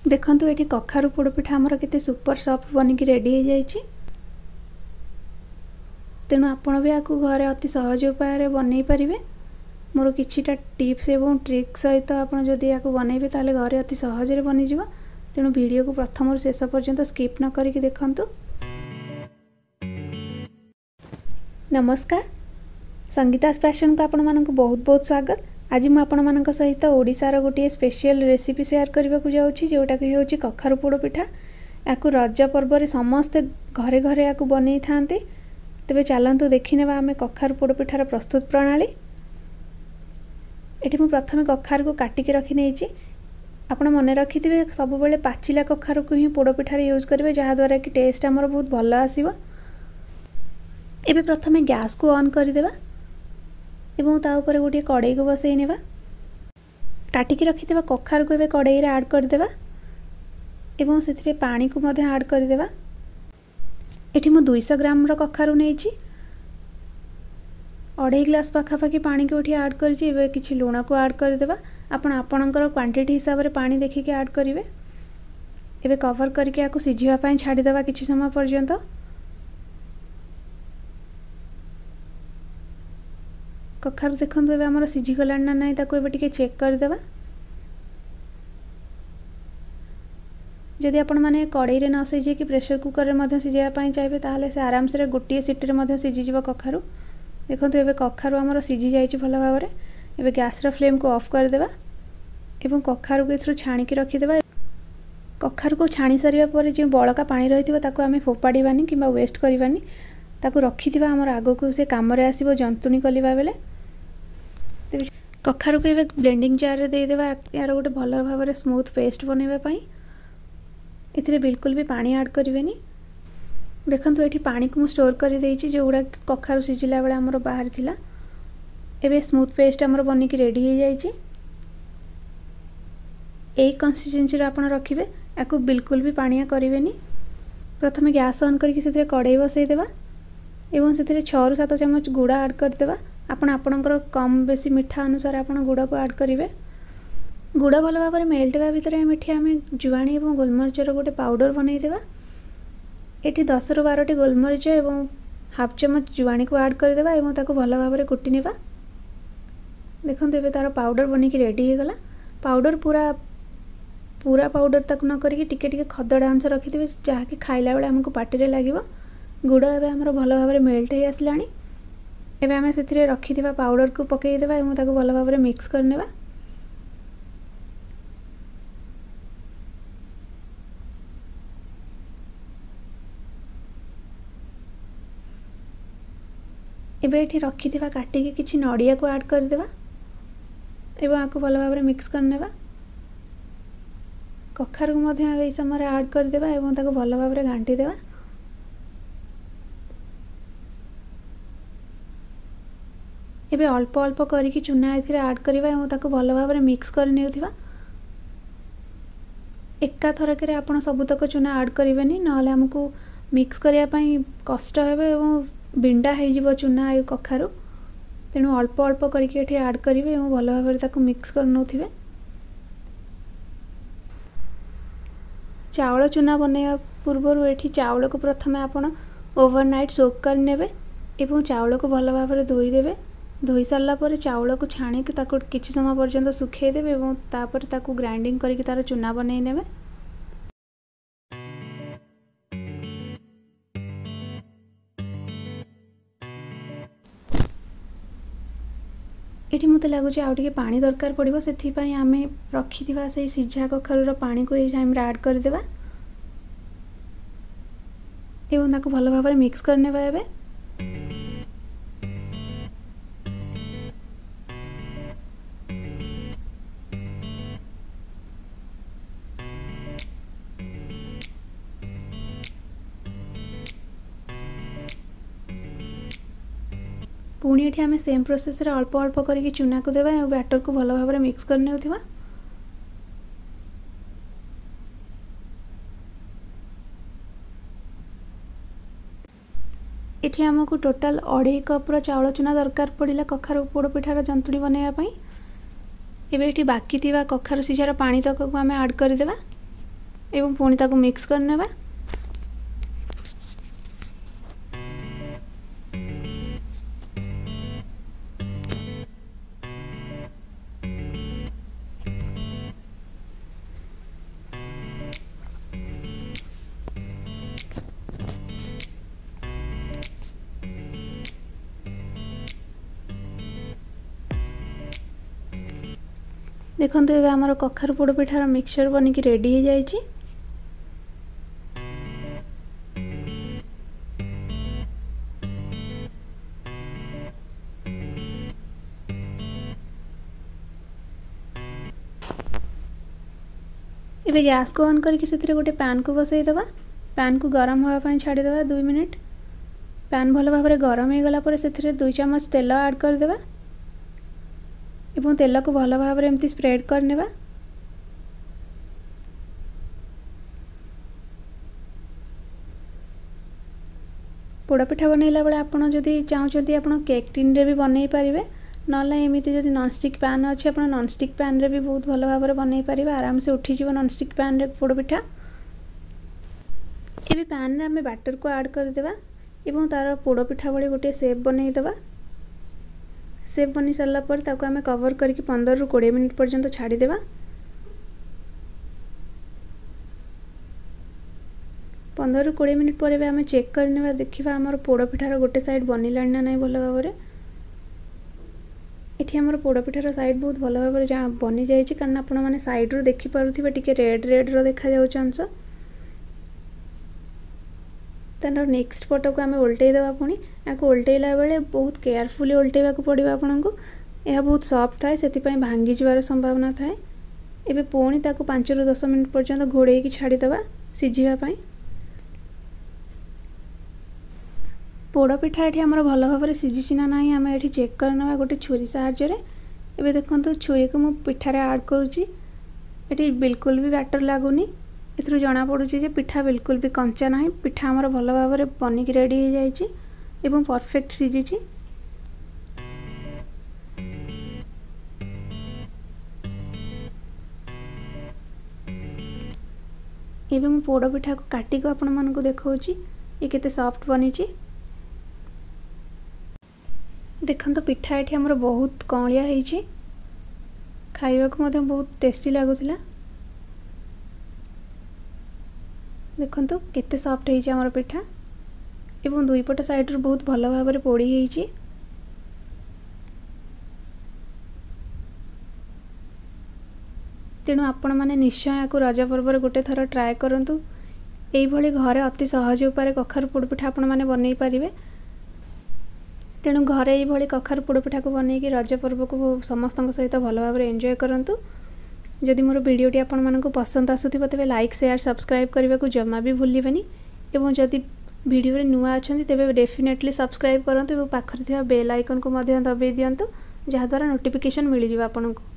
ଦେଖନ୍ତୁ, ଏଠି କଖାରୁ ପୋଡ଼ପିଠା ଆମର କେତେ ସୁପର ସଫ୍ଟ ବନିକି ରେଡ଼ି ହେଇଯାଇଛି। ତେଣୁ ଆପଣ ବି ଏହାକୁ ଘରେ ଅତି ସହଜ ଉପାୟରେ ବନେଇ ପାରିବେ। ମୋର କିଛିଟା ଟିପ୍ସ ଏବଂ ଟ୍ରିକ୍ ସହିତ ଆପଣ ଯଦି ଏହାକୁ ବନେଇବେ, ତାହେଲେ ଘରେ ଅତି ସହଜରେ ବନିଯିବ। ତେଣୁ ଭିଡ଼ିଓକୁ ପ୍ରଥମରୁ ଶେଷ ପର୍ଯ୍ୟନ୍ତ ସ୍କିପ୍ ନ କରିକି ଦେଖନ୍ତୁ। ନମସ୍କାର, ସଙ୍ଗୀତାସ୍ ପ୍ୟାସନ୍କୁ ଆପଣମାନଙ୍କୁ ବହୁତ ବହୁତ ସ୍ୱାଗତ। ଆଜି ମୁଁ ଆପଣମାନଙ୍କ ସହିତ ଓଡ଼ିଶାର ଗୋଟିଏ ସ୍ପେଶିଆଲ ରେସିପି ସେୟାର କରିବାକୁ ଯାଉଛି, ଯେଉଁଟାକି ହେଉଛି କଖାରୁ ପୋଡ଼ ପିଠା। ଏହାକୁ ରଜ ପର୍ବରେ ସମସ୍ତେ ଘରେ ଘରେ ଏହାକୁ ବନେଇଥାନ୍ତି। ତେବେ ଚାଲନ୍ତୁ ଦେଖିନେବା ଆମେ କଖାରୁ ପୋଡ଼ ପିଠାର ପ୍ରସ୍ତୁତ ପ୍ରଣାଳୀ। ଏଠି ମୁଁ ପ୍ରଥମେ କଖାରୁକୁ କାଟିକି ରଖିନେଇଛି। ଆପଣ ମନେ ରଖିଥିବେ, ସବୁବେଳେ ପାଚିଲା କଖାରୁକୁ ହିଁ ପୋଡ଼ ପିଠାରେ ୟୁଜ୍ କରିବେ, ଯାହାଦ୍ୱାରା କି ଟେଷ୍ଟ ଆମର ବହୁତ ଭଲ ଆସିବ। ଏବେ ପ୍ରଥମେ ଗ୍ୟାସ୍କୁ ଅନ୍ କରିଦେବା ଏବଂ ତା ଉପରେ ଗୋଟିଏ କଡ଼େଇକୁ ବସେଇ ନେବା। କାଟିକି ରଖିଥିବା କଖାରୁକୁ ଏବେ କଡ଼େଇରେ ଆଡ଼୍ କରିଦେବା ଏବଂ ସେଥିରେ ପାଣିକୁ ମଧ୍ୟ ଆଡ଼୍ କରିଦେବା। ଏଠି ମୁଁ 200 ଗ୍ରାମର କଖାରୁ ନେଇଛି। 2.5 ଗ୍ଲାସ୍ ପାଖାପାଖି ପାଣିକୁ ଏଠି ଆଡ଼୍ କରିଛି। ଏବେ କିଛି ଲୁଣକୁ ଆଡ଼୍ କରିଦେବା। ଆପଣ ଆପଣଙ୍କର କ୍ୱାଣ୍ଟିଟି ହିସାବରେ ପାଣି ଦେଖିକି ଆଡ଼୍ କରିବେ। ଏବେ କଭର୍ କରିକି ଏହାକୁ ସିଝିବା ପାଇଁ ଛାଡ଼ିଦେବା କିଛି ସମୟ ପର୍ଯ୍ୟନ୍ତ। କଖାରୁ ଦେଖନ୍ତୁ, ଏବେ ଆମର ସିଝିଗଲାଣି ନା ନାହିଁ, ତାକୁ ଏବେ ଟିକେ ଚେକ୍ କରିଦେବା। ଯଦି ଆପଣମାନେ କଡ଼େଇରେ ନ ସିଝେଇକି ପ୍ରେସର କୁକରରେ ମଧ୍ୟ ସିଝାଇବା ପାଇଁ ଚାହିଁବେ, ତାହେଲେ ସେ ଆରାମସରେ ଗୋଟିଏ ସିଟିରେ ମଧ୍ୟ ସିଝିଯିବ କଖାରୁ। ଦେଖନ୍ତୁ, ଏବେ କଖାରୁ ଆମର ସିଝି ଯାଇଛି ଭଲ ଭାବରେ। ଏବେ ଗ୍ୟାସ୍ର ଫ୍ଲେମ୍କୁ ଅଫ୍ କରିଦେବା ଏବଂ କଖାରୁକୁ ଏଥିରୁ ଛାଣିକି ରଖିଦେବା। କଖାରୁକୁ ଛାଣି ସାରିବା ପରେ ଯେଉଁ ବଳକା ପାଣି ରହିଥିବ, ତାକୁ ଆମେ ଫୋପାଡ଼ିବାନି କିମ୍ବା ୱେଷ୍ଟ କରିବାନି। ତାକୁ ରଖିଥିବା, ଆମର ଆଗକୁ ସେ କାମରେ ଆସିବ ଜନ୍ତୁଣି କଲିବା ବେଳେ। ତେବେ କଖାରୁକୁ ଏବେ ବ୍ଲେଣ୍ଡିଂ ଜାର୍ରେ ଦେଇଦେବା, ଏହାର ଗୋଟେ ଭଲ ଭାବରେ ସ୍ମୁଥ୍ ପେଷ୍ଟ ବନେଇବା ପାଇଁ। ଏଥିରେ ବିଲକୁଲ ବି ପାଣି ଆଡ଼୍ କରିବେନି। ଦେଖନ୍ତୁ, ଏଠି ପାଣିକୁ ମୁଁ ଷ୍ଟୋର୍ କରିଦେଇଛି, ଯେଉଁଗୁଡ଼ା କଖାରୁ ସିଝିଲା ବେଳେ ଆମର ବାହାରିଥିଲା। ଏବେ ସ୍ମୁଥ୍ ପେଷ୍ଟ ଆମର ବନିକି ରେଡ଼ି ହେଇଯାଇଛି। ଏଇ କନସିଷ୍ଟେନ୍ସିର ଆପଣ ରଖିବେ, ୟାକୁ ବିଲକୁଲ ବି ପାଣିଆ କରିବେନି। ପ୍ରଥମେ ଗ୍ୟାସ୍ ଅନ୍ କରିକି ସେଥିରେ କଡ଼େଇ ବସେଇଦେବା ଏବଂ ସେଥିରେ 6ରୁ 7 ଚାମଚ ଗୁଡ଼ ଆଡ଼୍ କରିଦେବା। ଆପଣ ଆପଣଙ୍କର କମ୍ ବେଶୀ ମିଠା ଅନୁସାରେ ଆପଣ ଗୁଡ଼କୁ ଆଡ଼୍ କରିବେ। ଗୁଡ଼ ଭଲ ଭାବରେ ମେଲ୍ଟ ହେବା ଭିତରେ ଏଠି ଆମେ ଜୁଆଣି ଏବଂ ଗୋଲମରିଚର ଗୋଟେ ପାଉଡ଼ର ବନେଇଦେବା। ଏଠି 10ରୁ 12ଟି ଗୋଲମରିଚ ଏବଂ ହାଫ୍ ଚାମଚ ଜୁଆଣିକୁ ଆଡ଼୍ କରିଦେବା ଏବଂ ତାକୁ ଭଲ ଭାବରେ କୁଟି ନେବା। ଦେଖନ୍ତୁ, ଏବେ ତା'ର ପାଉଡ଼ର ବନିକି ରେଡ଼ି ହେଇଗଲା। ପାଉଡ଼ର ପୁରା ପୁରା ପାଉଡ଼ର ତାକୁ ନ କରିକି ଟିକେ ଟିକେ ଖଦଡ଼ା ଅଂଶ ରଖିଥିବେ, ଯାହାକି ଖାଇଲା ବେଳେ ଆମକୁ ପାଟିରେ ଲାଗିବ। ଗୁଡ଼ ଏବେ ଆମର ଭଲ ଭାବରେ ମେଲ୍ଟ ହେଇ ଆସିଲାଣି। ଏବେ ଆମେ ସେଥିରେ ରଖିଥିବା ପାଉଡ଼ରକୁ ପକାଇଦେବା ଏବଂ ତାକୁ ଭଲ ଭାବରେ ମିକ୍ସ କରିନେବା। ଏବେ ଏଠି ରଖିଥିବା କାଟିକି କିଛି ନଡ଼ିଆକୁ ଆଡ଼୍ କରିଦେବା ଏବଂ ଆକୁ ଭଲ ଭାବରେ ମିକ୍ସ କରିନେବା। କଖାରୁକୁ ମଧ୍ୟ ଏହି ସମୟରେ ଆଡ଼୍ କରିଦେବା ଏବଂ ତାକୁ ଭଲ ଭାବରେ ଘାଣ୍ଟି ଦେବା। ଏବେ ଅଳ୍ପ ଅଳ୍ପ କରିକି ଚୁନା ଏଥିରେ ଆଡ଼୍ କରିବା ଏବଂ ତାକୁ ଭଲ ଭାବରେ ମିକ୍ସ କରି ନେଉଥିବା। ଏକାଥରକରେ ଆପଣ ସବୁତକ ଚୁନା ଆଡ଼୍ କରିବେନି, ନହେଲେ ଆମକୁ ମିକ୍ସ କରିବା ପାଇଁ କଷ୍ଟ ହେବ ଏବଂ ବିଣ୍ଡା ହେଇଯିବ ଚୁନା ଆଉ କଖାରୁ। ତେଣୁ ଅଳ୍ପ ଅଳ୍ପ କରିକି ଏଠି ଆଡ଼୍ କରିବେ ଏବଂ ଭଲ ଭାବରେ ତାକୁ ମିକ୍ସ କରି ନେଉଥିବେ। ଚାଉଳ ଚୁନା ବନେଇବା ପୂର୍ବରୁ ଏଠି ଚାଉଳକୁ ପ୍ରଥମେ ଆପଣ ଓଭର ନାଇଟ୍ ସୋକ୍ କରିନେବେ ଏବଂ ଚାଉଳକୁ ଭଲ ଭାବରେ ଧୋଇଦେବେ। ଧୋଇ ସାରିଲା ପରେ ଚାଉଳକୁ ଛାଣିକି ତାକୁ କିଛି ସମୟ ପର୍ଯ୍ୟନ୍ତ ଶୁଖେଇ ଦେବେ ଏବଂ ତାପରେ ତାକୁ ଗ୍ରାଇଣ୍ଡିଙ୍ଗ କରିକି ତା'ର ଚୁନା ବନେଇ ନେବେ। ଏଠି ମୋତେ ଲାଗୁଛି ଆଉ ଟିକେ ପାଣି ଦରକାର ପଡ଼ିବ, ସେଥିପାଇଁ ଆମେ ରଖିଥିବା ସେଇ ସିଝା କଖାରୁର ପାଣିକୁ ଏଇ ଟାଇମ୍ରେ ଆଡ଼୍ କରିଦେବା ଏବଂ ତାକୁ ଭଲ ଭାବରେ ମିକ୍ସ କରିନେବା। ଏବେ ପୁଣି ଏଠି ଆମେ ସେମ୍ ପ୍ରୋସେସ୍ରେ ଅଳ୍ପ ଅଳ୍ପ କରିକି ଚୁନାକୁ ଦେବା ଏବଂ ବ୍ୟାଟରକୁ ଭଲ ଭାବରେ ମିକ୍ସ କରି ନେଉଥିବା। ଏଠି ଆମକୁ ଟୋଟାଲ୍ 2.5 କପ୍ର ଚାଉଳ ଚୁନା ଦରକାର ପଡ଼ିଲା କଖାରୁ ପୋଡ଼ ପିଠାର ଜନ୍ତୁଣି ବନେଇବା ପାଇଁ। ଏବେ ଏଠି ବାକି ଥିବା କଖାରୁ ସିଝାର ପାଣି ତକକୁ ଆମେ ଆଡ଼୍ କରିଦେବା। ଏବଂ ପୁଣି ତାକୁ ମିକ୍ସ କରିନେବା। ଦେଖନ୍ତୁ ଏବେ ଆମର କଖାରୁ ପୋଡ଼ ପିଠାର ମିକ୍ସଚର୍ ବନିକି ରେଡ଼ି ହେଇଯାଇଛି। ଏବେ ଗ୍ୟାସ୍କୁ ଅନ୍ କରିକି ସେଥିରେ ଗୋଟେ ପ୍ୟାନ୍କୁ ବସେଇଦେବା। ପ୍ୟାନ୍କୁ ଗରମ ହେବା ପାଇଁ ଛାଡ଼ିଦେବା 2 ମିନିଟ୍। ପ୍ୟାନ୍ ଭଲ ଭାବରେ ଗରମ ହେଇଗଲା ପରେ ସେଥିରେ 2 ଚାମଚ ତେଲ ଆଡ଼୍ କରିଦେବା ଏବଂ ତେଲକୁ ଭଲ ଭାବରେ ଏମିତି ସ୍ପ୍ରେଡ୍ କରିନେବା। ପୋଡ଼ପିଠା ବନେଇଲା ବେଳେ ଆପଣ ଯଦି ଚାହୁଁଛନ୍ତି ଆପଣ କେକ୍ ଟିନ୍ରେ ବି ବନେଇ ପାରିବେ, ନହେଲେ ଏମିତି ଯଦି ନନଷ୍ଟିକ୍ ପ୍ୟାନ୍ ଅଛି ଆପଣ ନନଷ୍ଟିକ୍ ପ୍ୟାନ୍ରେ ବି ବହୁତ ଭଲ ଭାବରେ ବନେଇ ପାରିବେ। ଆରାମସେ ଉଠିଯିବ ନନଷ୍ଟିକ୍ ପ୍ୟାନ୍ରେ ପୋଡ଼ପିଠା। ଏବେ ପ୍ୟାନ୍ରେ ଆମେ ବ୍ୟାଟର୍କୁ ଆଡ଼୍ କରିଦେବା ଏବଂ ତା'ର ପୋଡ଼ପିଠା ଭଳି ଗୋଟିଏ ସେପ୍ ବନେଇଦେବା। ସେପ୍ ବନେଇ ସାରିଲା ପରେ ତାକୁ ଆମେ କଭର୍ କରିକି 15ରୁ 20 ମିନିଟ୍ ପର୍ଯ୍ୟନ୍ତ ଛାଡ଼ିଦେବା। 15ରୁ 20 ମିନିଟ୍ ପରେ ବି ଆମେ ଚେକ୍ କରିନେବା, ଦେଖିବା ଆମର ପୋଡ଼ପିଠାର ଗୋଟେ ସାଇଡ଼୍ ବନିଲାଣି ନା ନାହିଁ ଭଲ ଭାବରେ। ଏଠି ଆମର ପୋଡ଼ପିଠାର ସାଇଡ଼୍ ବହୁତ ଭଲ ଭାବରେ ବନିଯାଇଛି, କାରଣ ଆପଣମାନେ ସାଇଡ଼୍ରୁ ଦେଖିପାରୁଥିବେ ଟିକେ ରେଡ଼୍ ରେଡ଼୍ର ଦେଖାଯାଉଛି ଅଂଶ। ତାର ନେକ୍ସଟ ପଟକୁ ଆମେ ଓଲଟେଇ ଦେବା। ପୁଣି ଏହାକୁ ଓଲଟେଇଲା ବେଳେ ବହୁତ କେୟାରଫୁଲି ଓଲଟେଇବାକୁ ପଡ଼ିବ ଆପଣଙ୍କୁ। ଏହା ବହୁତ ସଫ୍ଟ ଥାଏ, ସେଥିପାଇଁ ଭାଙ୍ଗିଯିବାର ସମ୍ଭାବନା ଥାଏ। ଏବେ ପୁଣି ତାକୁ 5ରୁ 10 ମିନିଟ୍ ପର୍ଯ୍ୟନ୍ତ ଘୋଡ଼େଇକି ଛାଡ଼ିଦେବା ସିଝିବା ପାଇଁ। ପୋଡ଼ପିଠା ଏଠି ଆମର ଭଲ ଭାବରେ ସିଝିଛି ନା ନାହିଁ ଆମେ ଏଠି ଚେକ୍ କରିନେବା ଗୋଟେ ଛୁରୀ ସାହାଯ୍ୟରେ। ଏବେ ଦେଖନ୍ତୁ ଛୁରୀକୁ ମୁଁ ପିଠାରେ ଆଡ଼୍ କରୁଛି। ଏଠି ବିଲକୁଲ ବି ବ୍ୟାଟର୍ ଲାଗୁନି। ଏଥିରୁ ଜଣାପଡ଼ୁଛି ଯେ ପିଠା ବିଲକୁଲ ବି କଞ୍ଚା ନାହିଁ। ପିଠା ଆମର ଭଲ ଭାବରେ ବନିକି ରେଡ଼ି ହେଇଯାଇଛି ଏବଂ ପରଫେକ୍ଟ ସିଝିଛି। ଏବେ ମୁଁ ପୋଡ଼ ପିଠାକୁ କାଟିକି ଆପଣମାନଙ୍କୁ ଦେଖାଉଛି ଏ କେତେ ସଫ୍ଟ ବନିଛି। ଦେଖନ୍ତୁ ପିଠା ଏଠି ଆମର ବହୁତ କଅଁଳିଆ ହେଇଛି, ଖାଇବାକୁ ମଧ୍ୟ ବହୁତ ଟେଷ୍ଟି ଲାଗୁଥିଲା। ଦେଖନ୍ତୁ କେତେ ସଫ୍ଟ ହେଇଛି ଆମର ପିଠା ଏବଂ ଦୁଇ ପଟ ସାଇଡ଼ରୁ ବହୁତ ଭଲ ଭାବରେ ପୋଡ଼ି ହେଇଛି। ତେଣୁ ଆପଣମାନେ ନିଶ୍ଚୟ ୟାକୁ ରଜ ପର୍ବରେ ଗୋଟେ ଥର ଟ୍ରାଏ କରନ୍ତୁ। ଏଇଭଳି ଘରେ ଅତି ସହଜ ଉପାୟରେ କଖାରୁ ପୋଡ଼ପିଠା ଆପଣମାନେ ବନେଇ ପାରିବେ। ତେଣୁ ଘରେ ଏଇଭଳି କଖାରୁ ପୋଡ଼ପିଠାକୁ ବନେଇକି ରଜ ପର୍ବକୁ ସମସ୍ତଙ୍କ ସହିତ ଭଲ ଭାବରେ ଏନ୍ଜୟ କରନ୍ତୁ। ଯଦି ମୋର ଭିଡ଼ିଓଟି ଆପଣମାନଙ୍କୁ ପସନ୍ଦ ଆସୁଥିବ ତେବେ ଲାଇକ୍, ସେୟାର, ସବସ୍କ୍ରାଇବ୍ କରିବାକୁ ଜମା ବି ଭୁଲିବେନି। ଏବଂ ଯଦି ଭିଡ଼ିଓରେ ନୂଆ ଅଛନ୍ତି ତେବେ ଡେଫିନେଟଲି ସବସ୍କ୍ରାଇବ୍ କରନ୍ତୁ ଏବଂ ପାଖରେ ଥିବା ବେଲ୍ ଆଇକନ୍କୁ ମଧ୍ୟ ଦବାଇ ଦିଅନ୍ତୁ, ଯାହାଦ୍ୱାରା ନୋଟିଫିକେସନ୍ ମିଳିଯିବ ଆପଣଙ୍କୁ।